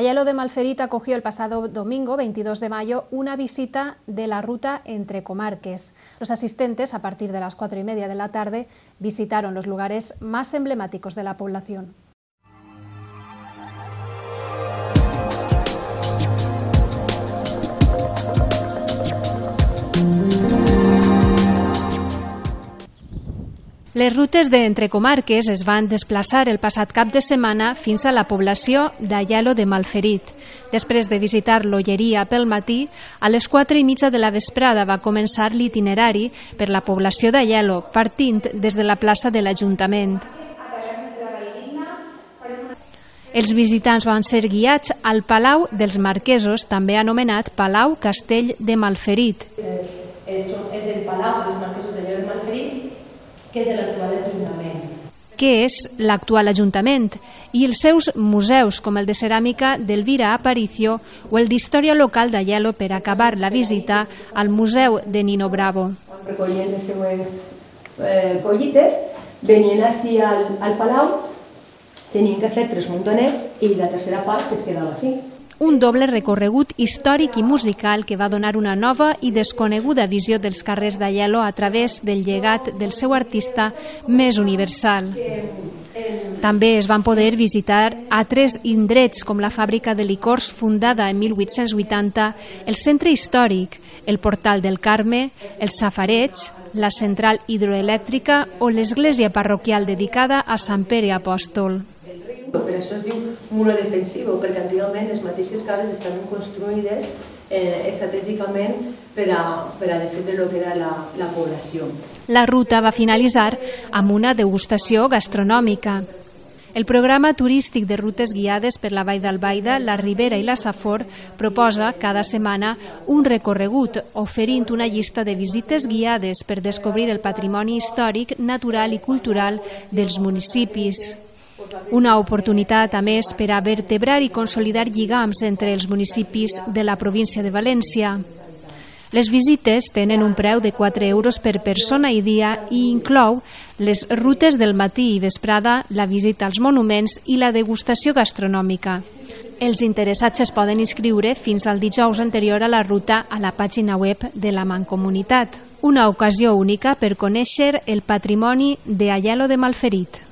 Ayalo de Malferit acogió el pasado domingo, 22 de mayo, una visita de la ruta entre comarques. Los asistentes, a partir de las 4:30 de la tarde, visitaron los lugares más emblemáticos de la población. Les rutes d'entre comarques es van desplaçar el passat cap de setmana fins a la població d'Ayalo de Malferit. Després de visitar l'Olleria pel matí, a les 4:30 de la vesprada va començar l'itinerari per la població d'Ayalo, partint des de la plaça de l'Ajuntament. Els visitants van ser guiats al Palau dels Marquesos, també anomenat Palau Castell de Malferit. És el Palau dels Marquesos d'Ayalo de Malferit, que és l'actual Ajuntament. Què és l'actual Ajuntament? I els seus museus, com el de ceràmica d'Elvira Aparicio o el d'història local d'Ayalo, per acabar la visita al Museu de Nino Bravo. Recollint les seues collites, venien així al Palau, tenien que fer 3 muntonets i la tercera part que es quedava així. Un doble recorregut històric i musical que va donar una nova i desconeguda visió dels carrers d'Ayalo a través del llegat del seu artista més universal. També es van poder visitar altres indrets com la fàbrica de licors fundada en 1880, el centre històric, el portal del Carme, el safareig, la central hidroelèctrica o l'església parroquial dedicada a Sant Pere Apòstol. Per això es diu muro defensivo, perquè antigament les mateixes cases estaven construïdes estratègicament per a defendre el que era la població. La ruta va finalitzar amb una degustació gastronòmica. El programa turístic de rutes guiades per la Vall d'Albaida, la Ribera i la Safor proposa cada setmana un recorregut, oferint una llista de visites guiades per descobrir el patrimoni històric, natural i cultural dels municipis. Una oportunitat, a més, per a vertebrar i consolidar lligams entre els municipis de la província de València. Les visites tenen un preu de 4 euros per persona i dia i inclou les rutes del matí i vesprada, la visita als monuments i la degustació gastronòmica. Els interessats es poden inscriure fins al dijous anterior a la ruta a la pàgina web de la Mancomunitat. Una ocasió única per conèixer el patrimoni d'Ayalo de Malferit.